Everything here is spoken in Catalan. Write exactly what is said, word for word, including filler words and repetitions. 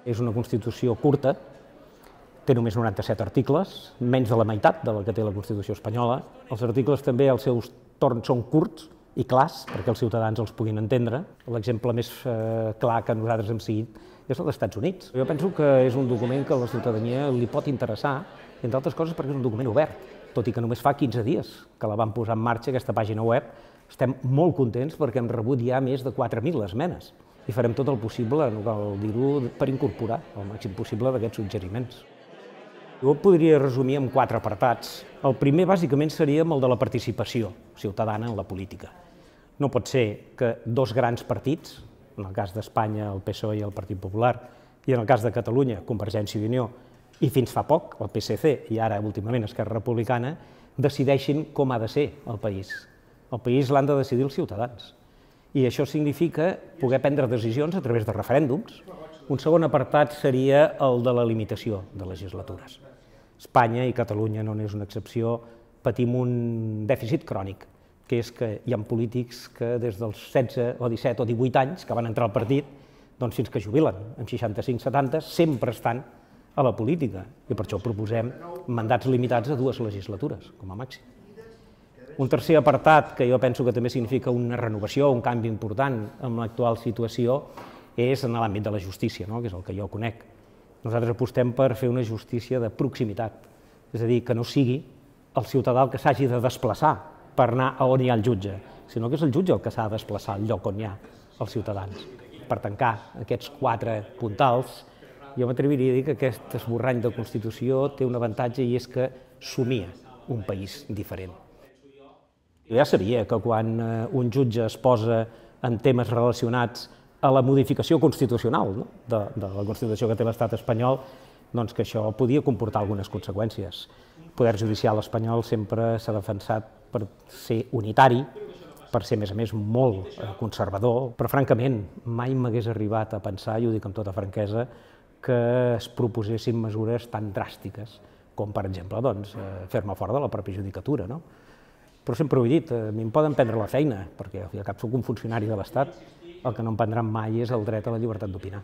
És una Constitució curta, té només noranta-set articles, menys de la meitat de la que té la Constitució espanyola. Els articles també, als seus torns, són curts i clars, perquè els ciutadans els puguin entendre. L'exemple més eh, clar que nosaltres hem seguit és el dels Estats Units. Jo penso que és un document que a la ciutadania li pot interessar, entre altres coses perquè és un document obert, tot i que només fa quinze dies que la van posar en marxa, aquesta pàgina web. Estem molt contents perquè hem rebut ja més de quatre mil esmenes i farem tot el possible, no cal dir-ho, per incorporar el màxim possible d'aquests suggeriments. Jo ho podria resumir en quatre apartats. El primer, bàsicament, seria el de la participació ciutadana en la política. No pot ser que dos grans partits, en el cas d'Espanya el P S O E i el Partit Popular, i en el cas de Catalunya, Convergència i Unió, i fins fa poc el P S C i ara últimament Esquerra Republicana, decideixin com ha de ser el país. El país l'han de decidir els ciutadans. I això significa poder prendre decisions a través de referèndums. Un segon apartat seria el de la limitació de legislatures. Espanya i Catalunya no n'és una excepció, patim un dèficit crònic, que és que hi ha polítics que des dels setze o disset o divuit anys que van entrar al partit, doncs fins que jubilen, amb seixanta-cinc setanta, sempre estan a la política. I per això proposem mandats limitats a dues legislatures, com a màxim. Un tercer apartat, que jo penso que també significa una renovació, un canvi important en l'actual situació, és en l'àmbit de la justícia, que és el que jo conec. Nosaltres apostem per fer una justícia de proximitat, és a dir, que no sigui el ciutadà el que s'hagi de desplaçar per anar a on hi ha el jutge, sinó que és el jutge el que s'ha de desplaçar al lloc on hi ha els ciutadans. Per tancar aquests quatre puntals, jo m'atreviria a dir que aquest esborrany de Constitució té un avantatge i és que somia un país diferent. Jo ja sabia que quan un jutge es posa en temes relacionats a la modificació constitucional de la Constitució que té l'estat espanyol, doncs que això podia comportar algunes conseqüències. El poder judicial espanyol sempre s'ha defensat per ser unitari, per ser, a més a més, molt conservador, però francament mai m'hagués arribat a pensar, i ho dic amb tota franquesa, que es proposessin mesures tan dràstiques com, per exemple, fer-me fora de la pròpia judicatura. Però sempre ho he dit, a mi em poden prendre la feina, perquè al cap soc un funcionari de l'Estat, el que no em prendran mai és el dret a la llibertat d'opinar.